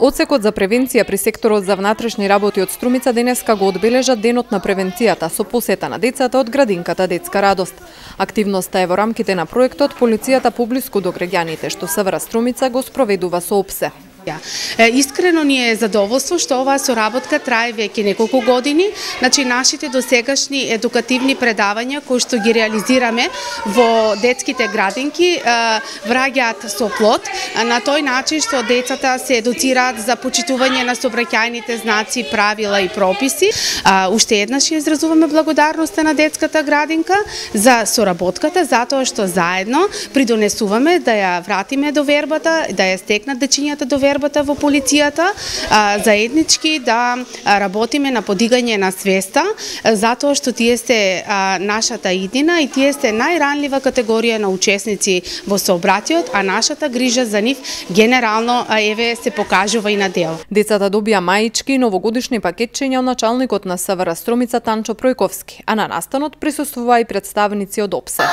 Одсекот за превенција при секторот за внатрешни работи од Струмица денеска го одбележа денот на превенцијата со посета на децата од градинката Детска радост. Активноста е во рамките на проектот Полицијата поблиску до граѓаните, што СВР Струмица го спроведува со ОПСЕ. Искрено ни е задоволство што оваа соработка трае веќе неколку години. Значи нашите досегашни едукативни предавања кои што ги реализираме во детските градинки враќаат со плод на тој начин што децата се едуцираат за почитување на сообраќајните знаци, правила и прописи. Уште еднаш ја изразуваме благодарноста на детската градинка за соработката, затоа што заедно придонесуваме да ја вратиме довербата, да ја стекнат дечињата довербата во полицијата, заеднички да работиме на подигање на свеста, затоа што тие се нашата иднина и тие се најранлива категорија на учесници во сообраќајот, а нашата грижа за нив генерално еве се покажува и на дел. Децата добија маички и новогодишни пакетчиња од началникот на СВР Струмица Танчо Пројковски, а на настанот присуствуваа и представници од ОПСЕ.